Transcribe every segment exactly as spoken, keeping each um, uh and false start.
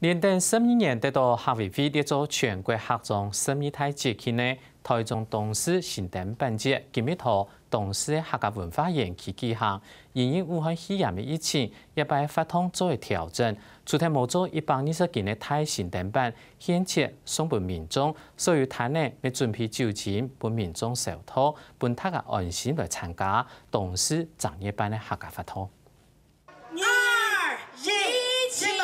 連等十二年得到客委會列做全國客庄十二大節慶个台中東勢新燈板節，今日在東勢个客家文化園區舉行。因應武漢肺炎个疫情，這擺活動做个調整，除忒無做一百二十斤个大型燈板，現切送分民眾，所有攤仔乜準備酒精分民眾消毒，分大家安心來參加東勢正月半个客家活動。 二、一，請揭牌！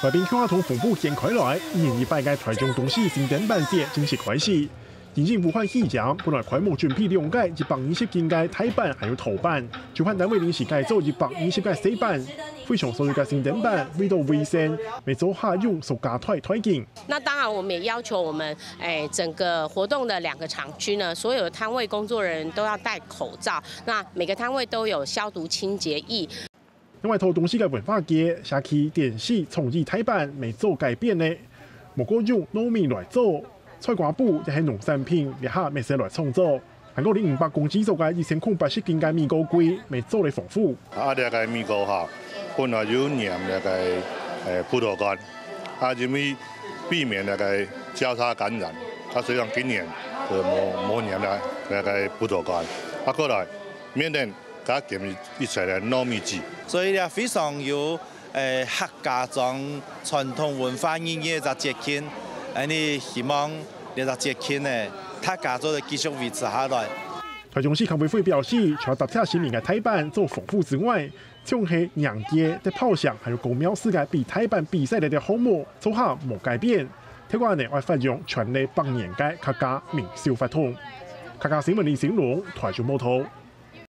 外賓共下同紅布掀開來，一年一擺个台中東勢新燈板節正式開始。因應武漢肺炎，本來開幕準備兩個一百二十斤个大板還有陶板，主辦單位臨時改做一百二十個細板，會場所有个新燈板為到衛生，乜做下用塑膠袋袋緊。 那當然，我們也要求我們，哎，整個活動的兩個場區呢，所有的攤位工作人員都要戴口罩。那每個攤位都有消毒清潔液。另外，台中市个文化節、社區、電視、創意大板乜做改變呢，無過用糯米來做，菜瓜布也係農產品，這下乜係來創作。 還過，二零五百公斤重个一千空八十斤个米糕粿，乜做了豐富。啊，這個米糕哈，本來有黏這個，誒，葡萄乾，啊，因為避免這個交叉感染，啊，所以講今年就無，無黏了這個葡萄乾。啊，過來，面頂加減一切个糯米糍。所以呢，非常有 誒，客家庄傳統文化意義个一隻節慶，恁呢希望這隻節慶呢，大家做得繼續維持下來。台中市客委會表示，除了搭貼神明个大板做豐富之外，像係迎接、得炮仗，還有公廟式个比大板比賽个項目，做下無改變。聽講呢，愛發揚傳了百年个客家民俗活動。客家新聞李新龍，台中報導。